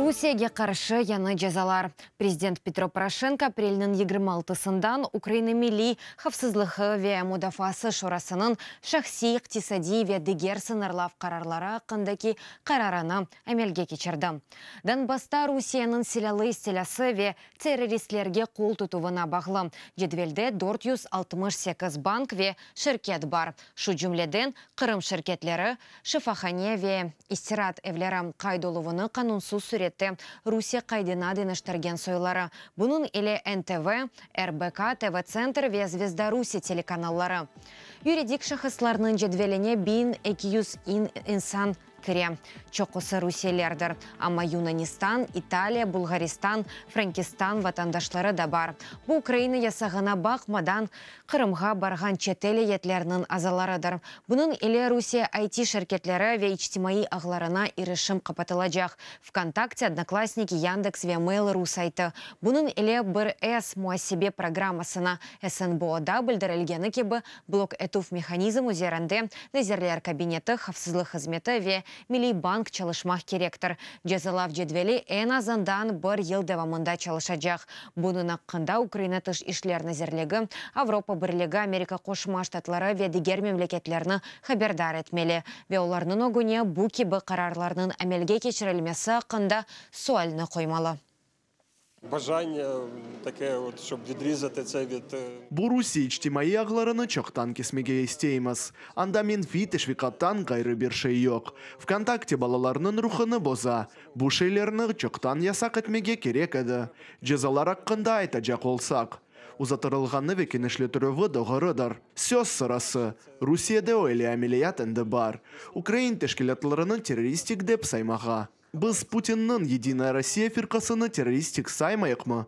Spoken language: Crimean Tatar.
Rusiyege qarşı yañı cezalar. Prezident Petro Poroşenko aprelniñ 26-sından Ukraina Milliy havfsızlığı ve mudafaası şurasınıñ şahsiy, iqtisadiy ve diger sıñırlav qararları aqqındaki qararını amelge keçirdi. Donbassta Rusiyeniñ silâlı istilâsı ve terroristlerge qol tutuvına bağlı cedvelde 468 bank ve şirket bar, şu cümleden Qırım şirketleri, şifahane ve istiraat evleri, qayd oluvını qanunsız sürette Rusiye qaydına deñiştirgen soyları, bunıñ ile NTV, RBK, TV-Tsentr ve Zvezda Rusiye telekanalları. Yuridik şahıslarnıñ cedveline 1200 insan kire, çoqusı rusiyelilerdir, amma Yunanistan, İtaliya, Bulğaristan, Frenkistan vatandaşları da bar. Bu Ukraina yasağına baqmadan Qırımğa barğan çetel eyyetleriniñ azalarıdır. Bunıñ ile Rusiye IT şirketleri ve içtimaiy ağlarına irişim qapatılacaq, VKontakte, Odnoklassniki, Yandeks ve Mail.ru saytı. Bunıñ ile bir S muasebe programmasına SNBOda bildirilgeni kibi blok etüv mehanizm üzerinde Nazirler Kabineti, Havfsızlıq hızmeti ve Milliy bank çalışmaq kerektir. Cezalav cedveli eñ azından bir yıl devamında çalışacaq. Bunıñ aqqında Ukraina Tış işler nazirligi, Avropa Birligi, Amerika Qoşma Ştatları ve diger memleketlerni haberdar etmeli ve olarnıñ ögüne bu kibi qararlarnıñ amelge keçirilmesi aqqında sualni qoymalı. Бажання таке, от, щоб відрізати це від Bu Rusiye içtimaiy ağlarını çoqtan kesmege isteymiz. Anda menfiy teşviqattan ğayrı bir şey yoq. VKontakte balalarnıñ ruhunı boza. Bu şeylerni çoqtan yasaq etmege kerek edi. Cezalar aqqında aytacaq olsaq, uzattırılğanı ve kenişletirüvi doğrudır. Söz sırası, Rusiyede öyle ameliyat endi bar. Ukrain teşkilâtlarını terroristik dep saymağa. Biz Putinniñ Yedinaya Rossiya firqasını terroristik saymayıqmı?